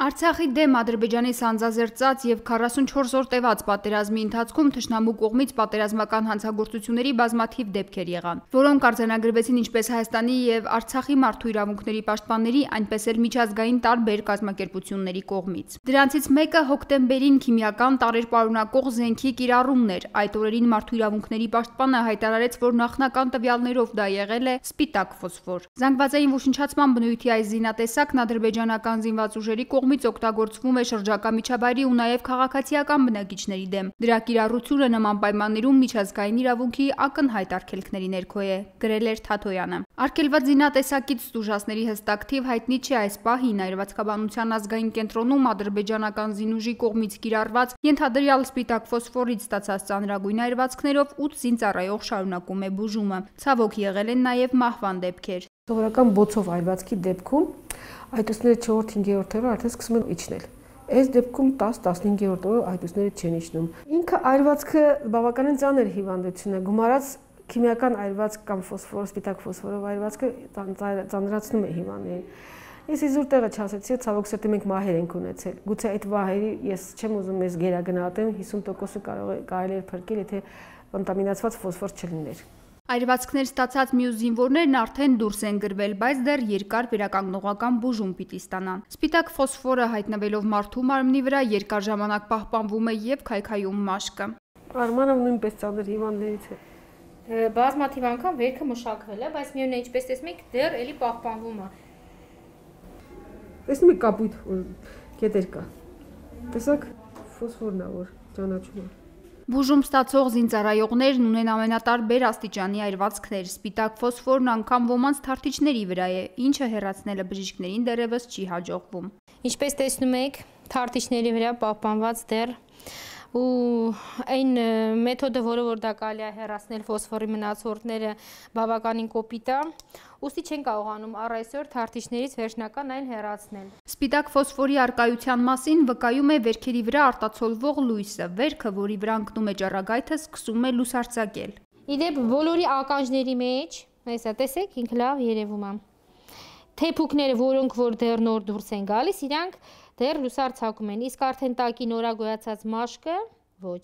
Արցախի դեմ Ադրբեջանի սանձազերծած և 44 օր տևած պատերազմի ընթացքում թշնամու կողմից պատերազմական հանցագործությունների բազմաթիվ դեպքեր եղան, որոնք արձանագրվեցին ինչպես Հայաստանի և Արցախի մարդու իրավունքների պաշտպանների, այնպես էլ միջազգային տարբեր կազմակերպությունների կողմից։ Դրանցից մեկը հոկտեմբերին քիմիական տարրեր պարունակող զենքի կիրառումն էր։ Այդ օրերին մարդու իրավունքների պաշտպանը հայտարարեց, որ նախնական տվյալներով դա եղել է սպիտակ ֆոսֆոր։ Զանգվածային ոչնչացման բնույթի այս զինատեսակն ադրբեջանական զինված ուժերի կողմից օգտագործվում է շրջակա միջավայրի ու նաև քաղաքացիական բնակիչների դեմ։ Դրա կիրառությունը նման պայմաններում միջազգային իրավունքի ակնհայտ արգելքների ներքո է, գրել էր Թաթոյանը։ Արգելված զինատեսակից ստուժածների հստակ թիվ հայտնի չէ այս պահին։ Այրվածքաբանության ազգային կենտրոնում ադրբեջանական զինուժի կողմից կիրառված ենթադրյալ սպիտակ ֆոսֆորից ստացած ծանրագույն այրվածքներով 8 զինծառայող շարունակում է բուժումը։ Ցավոք եղել են նաև մահվան դեպքեր։ Սովորական բոցով այրվածքի դեպքում այտուցները 4-5-րդ օրը արդեն սկսում են իջնել։ Այս դեպքում 10-15-րդ օրը այտուցները չեն իջնում։ Ինքը այրվածքը բավականին ծանր հիվանդություն է, գումարած քիմիական այրվածք կամ ֆոսֆոր, սպիտակ ֆոսֆորով այրվածքը ծանրացնում է հիվանդներին։ Ես իզուր տեղը չասեցի, ցավոք սրտի մենք մահեր ենք ունեցել։ Գուցե այդ մահերի ես չեմ ուզում ես գերագնահատեմ, 50%-ը կարելի էր փրկել, եթե կոնտամինացված ֆոսֆոր չլիներ։ Այրվածքներ ստացած մյուս զինվորներն արդեն դուրս են գրվել, բայց դեռ երկար վերականգնողական բուժում պիտի ստանան։ Սպիտակ ֆոսֆորը հայտնվելով մարդու մարմնի վրա երկար ժամանակ պահպանվում է եւ քայքայում մաշկը։ Արմանը նույնպես ծանր հիվանդներից է։ Բազմաթիվ անգամ վերքը մշակվել է, բայց միևնույն է, ինչպես տեսնում եք, դեռ էլի պահպանվում է։ Տեսնում եք կապույտ կետեր կա։ Տեսակ ֆոսֆորն է, որ ճանաչում է։ Բուժում ստացող զինծառայողներն ունեն ամենատարբեր աստիճանի այրվածքներ։ Սպիտակ ֆոսֆորն անգամ ոմանց թարթիչների վրա է, ինչը հեռացնելը բժիշկներին դեռևս չի հաջողվում։ Ինչպես տեսնում եք, թարթիչների վրա պահպանված դեռ ու այն մեթոդը, որը դա կարելի է հեռացնել ֆոսֆորի մնացորդները, բավականին կոպիտ է, ուստի չեն կարողանում առ այսօր թարթիչներից վերջնական այն հեռացնել։ Սպիտակ ֆոսֆորի առկայության մասին վկայում է վերքերի վրա արտացոլվող լույսը։ Վերքը, որի վրա ընկնում է ճառագայթը, սկսում է լուսարձակել։ Իդեպ բոլորի ականջների մեջ, այսա տեսեք, ինքը լավ երևում է։ Թեփուկները, որոնք որ դեռ նոր դուրս են գալիս, իրանք դեռ լուսարձակում են, իսկ արդեն տակի նորագոյացած մաշկը ոչ։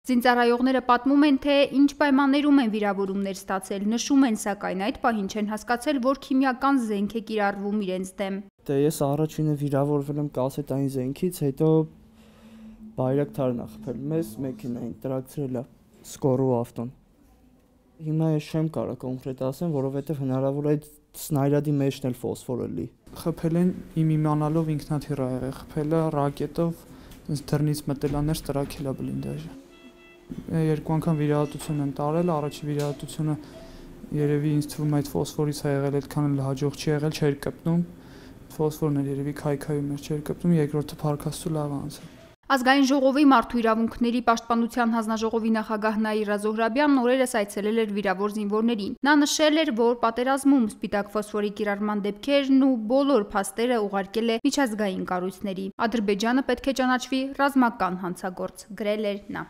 Զինծառայողները պատմում են, թե ինչ պայմաններում են վիրավորումներ ստացել, նշում են, սակայն այդ պահին չեն հասկացել, որ քիմիական զենք է կիրառվում իրենց դեմ։ Դե ես առաջինը վիրավորվել եմ կասետային զենքից, հետո բայրակթարն ա խփել մեզ մեքենային, տրակցրել է սկորու ավտոն։ Հիմա ես չեմ կարող կոնկրետ ասեմ, որովհետև հնարավոր է սնայրադի մեջն էլ ֆոսֆորը լի։ Խփել են իմ իմանալով ինքնաթիռ ա եղել, խփել է ռակետով, դռնից մտել է ներս տրաքել է բլինդաժը։ Երկու անգամ վիրահատություն են տարել, առաջի վիրահատությունը երևի ինձ թվում է այդ ֆոսֆորից է եղել, այդքան էլ հաջող չի եղել, չէր կպնում։ Ֆոսֆորն էլ երևի քայքայում էր, չէր կպնում, երկրորդը փառքաստու լավ անցել։ Ազգային ժողովի մարդու իրավունքների պաշտպանության հանձնաժողովի նախագահ Նաիրա Զոհրաբյանն օրերս այցելել էր վիրավոր զինվորներին։ Նա նշել էր, որ պատերազմում սպիտակ ֆոսֆորի կիրառման դեպքերն ու բոլոր փաստերը ուղարկել է միջազգային կառույցների։ Ադրբեջանը պետք է ճանաչվի ռազմական հանցագործ, գրել էր նա։